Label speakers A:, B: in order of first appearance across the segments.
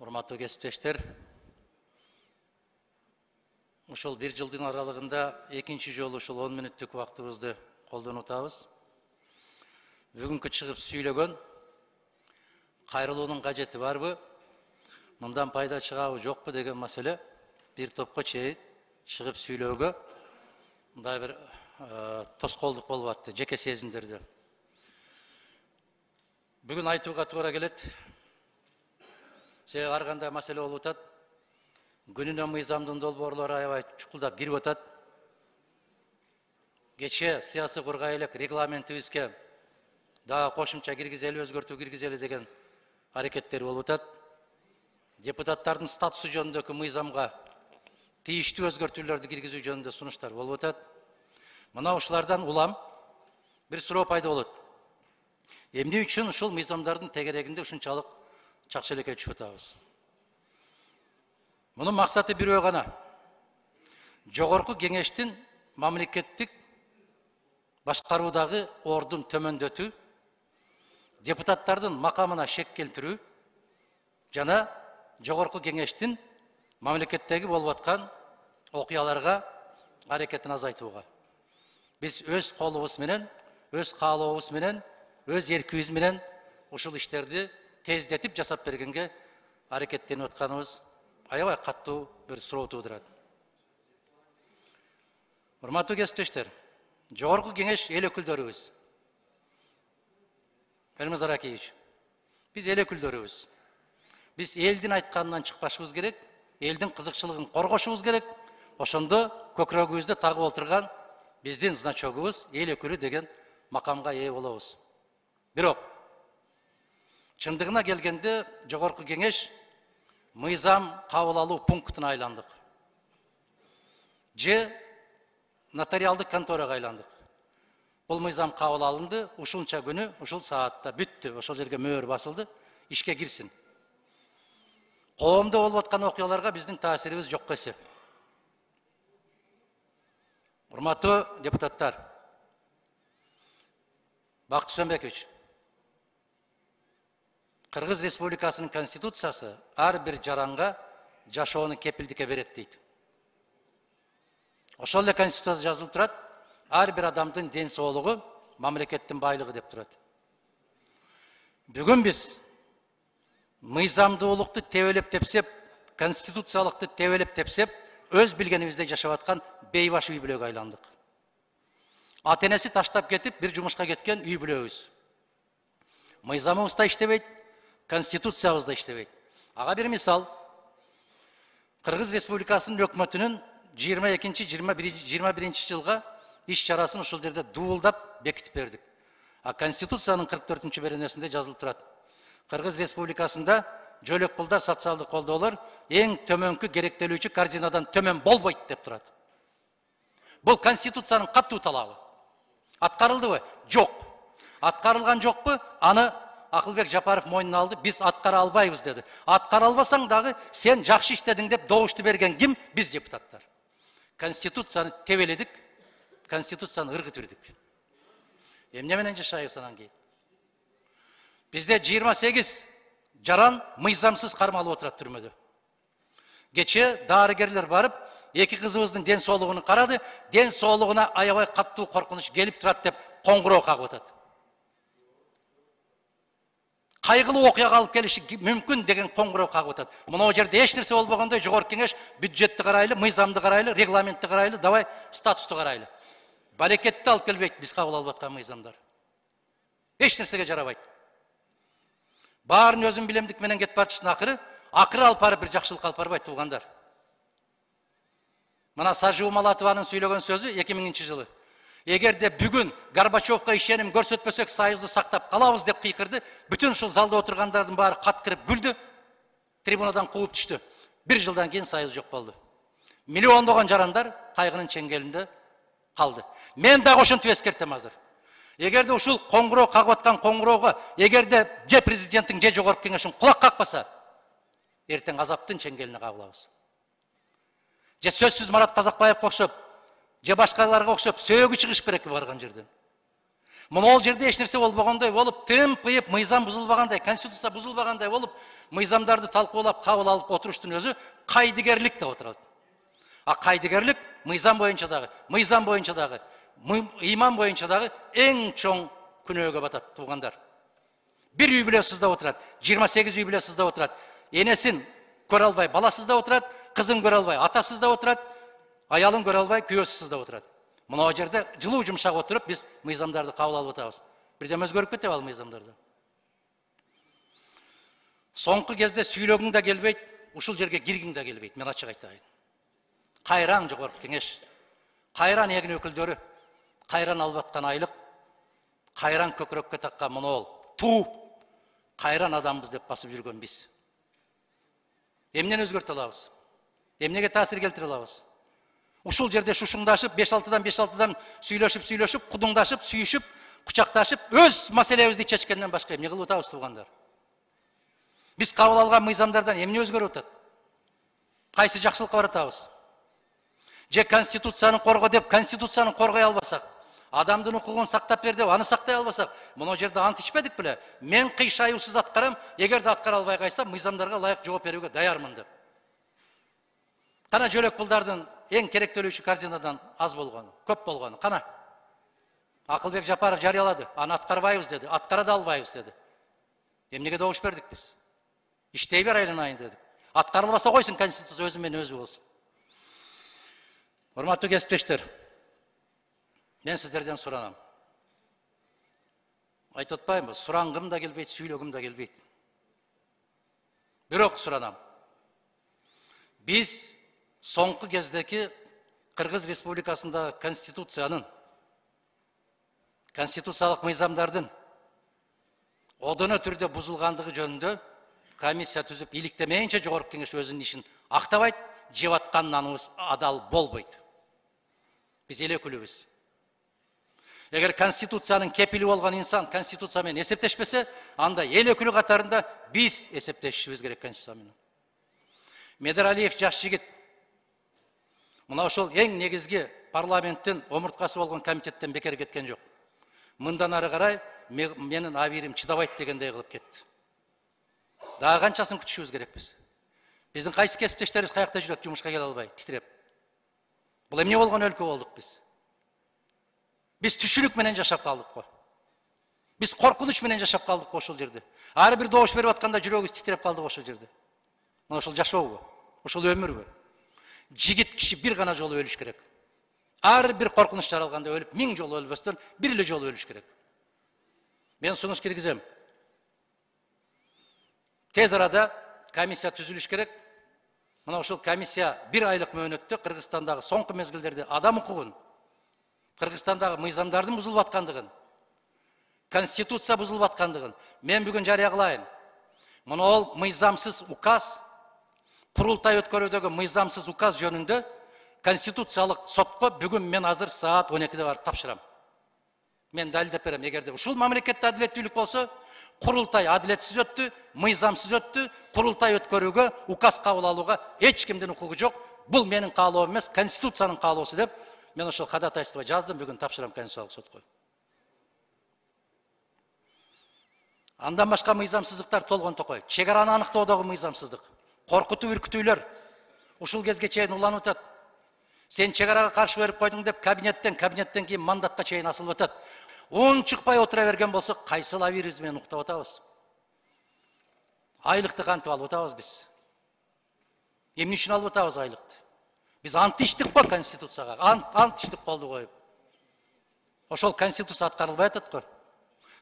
A: Урматтуу кесиптештер, ушул бир жылдын аралыгында экинчи жолу ушул 10 мүнөттүк убактыбызды колдонуп атабыз. Бүгүнкү чыгып сүйлөгөн кайрылуунун кажети барбы, мындан пайда чыгабы жокпу деген маселе бир топко чейин чыгып сүйлөөгө мындай бир тоскоолдук болуп атты, жеке сезимдерди. Бүгүн айтууга туура келет. Себеби ар кандай маселе болуп атат. Күнүнө мыйзамдын долбоорлору аябай чукулдап кирип атат. Кечээ саясий кургай элек регламентибизге дагы кошумча киргизели, өзгөртүү киргизели деген аракеттер болуп атат. Депутаттардын статусу жөнүндөгү мыйзамга тийиштүү өзгөртүүлөрдү киргизүү жөнүндө сунуштар болуп атат. Мына ушулардан улам бир суроо пайда болот. Эмне үчүн ушул мыйзамдардын тегерегинде ушунчалык чакчелекке түшүп атабыз? Мунун максаты бирөө гана. Жогорку кеңештин мамлекеттик башкаруудагы ордун төмөндөтүү, депутаттардын макамына шек келтирүү жана жогорку кеңештин мамлекеттеги болуп аткан окуяларга аракетин азайтууга. Биз өз колубуз менен, өз каалообуз менен, өз эркибиз менен ушул иштерди тездетип жасап бергенге аракеттенип атканыбыз аябай каттуу бир суроо туудурат. Урматтуу кесиптештер, жогорку кеңеш эл өкүлдөрүбүз. Элмаз Аракеевич, биз эл өкүлдөрүбүз. Биз элдин айтканынан чыкпашыбыз керек, элдин кызыкчылыгын коргошубуз керек. Ошондо көкүрөгүбүздө тагып отурган биздин значогубуз эл өкүлү деген макамга ээ болобуз. Бирок чындыгына келгенде жогорку кеңеш мыйзам кабыл алуу пунктуна айландык. Же нотариалдык конторага айландык. Бул мыйзам кабыл алынды, ушунча күнү, ушул саатта бүттү, ошол жерге мөөр басылды, ишке кирсин. Коомдо болуп аткан окуяларга биздин таасирибиз жок эсе. Урматтуу депутаттар, Бакыт Сөмбекович, Кыргыз Республикасынын конституциясы ар бир жаранга жашоону кепилдикке берет дейт. Ошол эле конституцияда жазылып турат, ар бир адамдын ден соолугу мамлекеттин байлыгы деп турат. Бүгүн биз мыйзамдуулукту тебелеп тепсеп, конституциялыкты тебелеп тепсеп, өз билгенибизде жашап аткан бейбаш үй бүлөгө айландык. Ата энеси таштап кетип, бир жумушка кеткен үй бүлөбүз. Мыйзамыбыз да иштебейт, конституциябыз да иштебейт. Ага бир мисал, Кыргыз Республикасынын өкмөтүнүн 22-21 жылга иш чарасын ушул жерде дуулдап бекитип бердик. А конституциянын 44-чү беренесинде жазылып турат. Кыргыз Республикасында жөлөк пулдар, социалдык колдоолор эң төмөнкү керектелүүчү корзинадан төмөн болбойт деп турат. Бул конституциянын катуу талабы. Аткарылдыбы? Жок. Аткарылган жокпу? Аны Акылбек Жапаров мойнуна алды, биз аткара албайбыз деди. Аткара албасаң дагы сен жакшы иштедиң деп добушту берген ким? Биз депутаттар. Конституцияны тебеледик, конституцияны ыргытып ирдик. Эмне менен жашайбыз анан кийин? Бизде 28 жаран мыйзамсыз кармалып отурат түрмөдө. Кечээ дарыгерлер барып, эки кызыбыздын ден соолугун карады, ден соолугуна аябай каттуу коркунуч келип турат деп коңгуроо кагып атат. Кайгылуу окуяга алып келиши мүмкүн деген коңгуроо кагып атат. Мына жерде эч нерсе болбогондой жогорку кеңеш бюджетти карайлы, мыйзамды карайлы, регламентти карайлы, давай статусту карайлы. Балекетти алып келбейт биз кабыл алып аткан мыйзамдар. Эч нерсеге жарабайт. Баарын өзүм билемдик менен кетип барчысын акыры алып барып бир жакшылык алып барбайт туугандар. Мына Сажуу Малатованын сүйлөгөн сөзү 2000 жылы. Эгерде бүгүн Горбачевко ишеним көрсөтпөсөк союзду сактап калабыз деп кыйкырды, бүтүн ушул залда отургандардын баары каткырып күлдү, трибунадан кууп түштү. Бир жылдан кийин союз жок болду. Миллиондогон жарандар кайгынын чеңгелинде калды. Мен дагы ошентип эскертем азыр. Эгерде ушул коңгуроо кагып аткан коңгуроого эгерде же президенттин же жогорку кеңештин кулак какпаса, эртең азаптын чеңгелине кабылабыз. Же сөзсүз Марат Казакбаевге окшоп, же башкаларга окшоп сөөгү чыгыш керек барган жерден. Могул жерде эч нерсе болбогондой болуп, тымпыйып, мыйзам бузулбагандай, конституция бузулбагандай болуп, мыйзамдарды талкуулап, кабыл алып отуруштун өзү кайдыгерлик деп отурат. А кайдыгерлик мыйзам боюнча дагы, ыйман боюнча дагы эң чоң күнөөгө батат, туугандар. Bir үй бүлө сыздап отурат, 28 үй бүлө сыздап отурат. Энесин көрө албай баласы сыздап отурат, кызын көрө албай атасы сыздап отурат, аялын көрө албай күйөөсү сыздап отурат. Мына жерде жылуу жумшак отуруп биз мыйзамдарды кабыл алып атабыз. Бирдем өзгөрүп кетеби ал мыйзамдарды? Соңку кезде сүйлөгүң да келбейт, ушул жерге киргиң да келбейт, мен ачык айтайын. Кайран жогорку кеңеш, кайран эгин өкүлдөрү, кайран алып аткан айлык, кайран көкүрөккө таккан монол, туу, кайран адамбыз деп басып жүргөн биз. Эмнени өзгөртө алабыз? Эмнеге таасир келтире алабыз? Ушул жерде шушуңдашып, 5-6-дан сүйлөшүп, кудуңдашып, сүйүшүп, кучакташып, өз маселебизди чечкенден башка эмне кылып атабыз, туугандар? Биз кабыл алган мыйзамдардан эмне өзгөрүп атат? Кайсы жакшылыкка баратабыз? Же конституцияны корго деп, конституцияны коргой албасак, адамдын укугун сактап бер деп, аны сактай албасак, мына жерде ант ичпедик беле? Мен кыйшаюусуз аткарам, эгерде аткара албай кайсам, мыйзамдарга ылайык жооп берүүгө даярмын деп. Кана жөлөк пулдардын эң керектөлүүчү корзинадан аз болгону, көп болгону, кана? Акылбек Жапаров жарыялады, аны аткарбайбыз деди, аткара да албайбыз деди. Эмнеге добуш бердик биз? Иштей бер айланайын дедик. Аткарылбаса койсун, конституция өзү менен өзү болсун. Урматтуу кесиптештер, мен сиздерден суранам. Айтып атпаймынбы, сурангым да келбейт, сүйлөгүм да келбейт. Бирок суранам. Биз соңку кездеки Кыргыз Республикасындагы конституциялык мыйзамдардын одоно түрдө бузулгандыгы жөнүндө комиссия түзүп иликтемейинче жогорку кеңеш өзүнүн ишин актабайт, жеп атканыбыз адал болбойт. Биз эл өкүлүбүз. Эгер конституциянын кепили болгон инсан конституция менен эсептешпесе, анда эл өкүлү катарында биз эсептешибиз керек конституция менен. Медералиев жаш жигит мына ошол эң негизги парламенттин омурткасы болгон комитеттен бекер кеткен жок. Мындан ары карай менин абийирим чыдабайт дегендей кылып кетти. Дагы канчасын күтүшүбүз керекпиз? Биздин кайсы кесиптештерибиз каякта жүрөт, жумушка келе албай, титиреп. Бул эмне болгон өлкө болдук биз? Биз түшүнүк менен жашап калдык го. Биз коркунуч менен жашап калдык го ошол жерде. Ар бир добуш берип атканда жүрөгүбүз титиреп калдык ошол жерде. Мына ошол жашообу, ошол өмүрбү? Жигит киши бир гана жолу өлүш керек. Ар бир коркунуч жаралганда өлүп, 1000 жолу өлбөстөн бир эле жолу өлүш керек. Мен сунуш киргизем. Тез арада комиссия түзүлүш керек. Мына ошол комиссия 1 айлык мөөнөттө Кыргызстандагы соңку мезгилдерде адам укугун, Кыргызстандагы мыйзамдардын бузулуп аткандыгын, конституция бузулуп аткандыгын мен бүгүн жарыя кылайын. Мына ол мыйзамсыз указ, курултай өткөрүүдөгү мыйзамсыз указ жөнүндө конституциялык сотко бүгүн мен азыр саат 12-де барып тапшырам. Мен далилдеп берем, эгерде ушул мамлекетте адилеттүүлүк болсо, курултай адилетсиз өттү, мыйзамсыз өттү, курултай өткөрүүгө, указ кабыл алууга эч кимдин укугу жок. Бул менин каалоом эмес, конституциянын каалоосу деп мен ошол кадатайство жаздым, бүгүн тапшырам конституциялык сотко. Андан башка мыйзамсыздыктар толгон токой. Чек араны аныктоодогу мыйзамсыздык, коркутуу, үркүтүүлөр ушул кезге чейин уланып атат. Сен чек арага каршы берип койдуң деп кабинеттен кийин мандатка чейин асылып атат. Чыкпай отура берген болсо, кайсыл абийирибиз менен уктап атабыз? Айлыкты кантип алып атабыз биз? Эмне үчүн алып атабыз айлыкты? Биз ант иштик го конституцияга, ант иштик колду коюп. Ошол конституция аткарылбай атат го.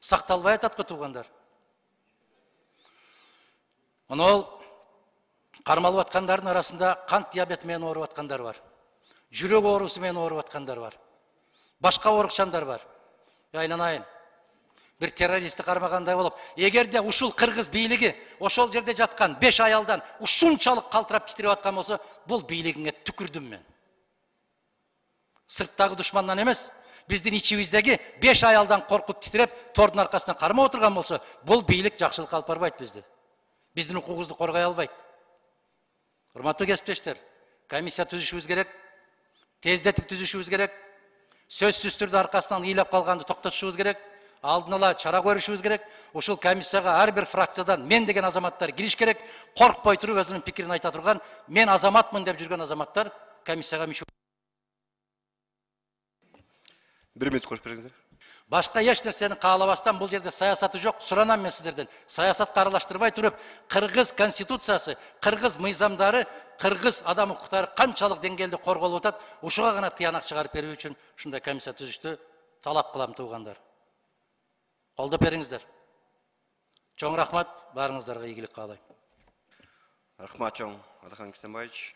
A: Сакталбай атат го, туугандар. Мына кармалып аткандардын арасында кант диабети менен ооруп аткандар бар. Жүрөк оорусу менен ооруп аткандар бар. Башка оорукчандар бар. Айланайын. Бир террористти кармагандай болуп, эгерде ушул кыргыз бийлиги ошол жерде жаткан 5 аялдан ушунчалык калтырап титирип аткан болсо, бул бийлигиңе түкүрдүм мен. Сырттагы душмандан эмес, биздин ичибиздеги 5 аялдан коркуп титиреп, тордун аркасынан кармап отурган болсо, бул бийлик жакшылыкка алып барбайт бизди. Биздин укугубузду коргой албайт. Урматтуу кесиптештер, комиссия түзүшүбүз керек, тездетип түзүшүбүз керек, сөзсүз түрдө аркасынан ыйлап калганды токтотушубуз керек. алдын ала чара көрүшүбүз керек. Ушул комиссияга ар бир фракциядан мен деген азаматтар кириш керек. Коркпой туруп өзүнүн пикирин айта турган, мен азаматмын деп жүргөн азаматтар комиссияга мүчө.
B: 1 мүнөт коюп бериңиздер.
A: Башка эч нерсени каалабастан бул жерде саясаты жок. Суранам мен сиздерден. Саясатка аралаштырбай туруп, кыргыз конституциясы, кыргыз мыйзамдары, кыргыз адам укуктары канчалык деңгээлде корголуп атат, ушуга гана тыянак чыгарып берүү үчүн ушундай комиссия түзүштү талап кылам туугандар. Колдоп бериңиздер. Чоң рахмат, баарыңыздарга ийгилик каалайм.
B: Рахмат чоң, Алихан Кисенбаевич.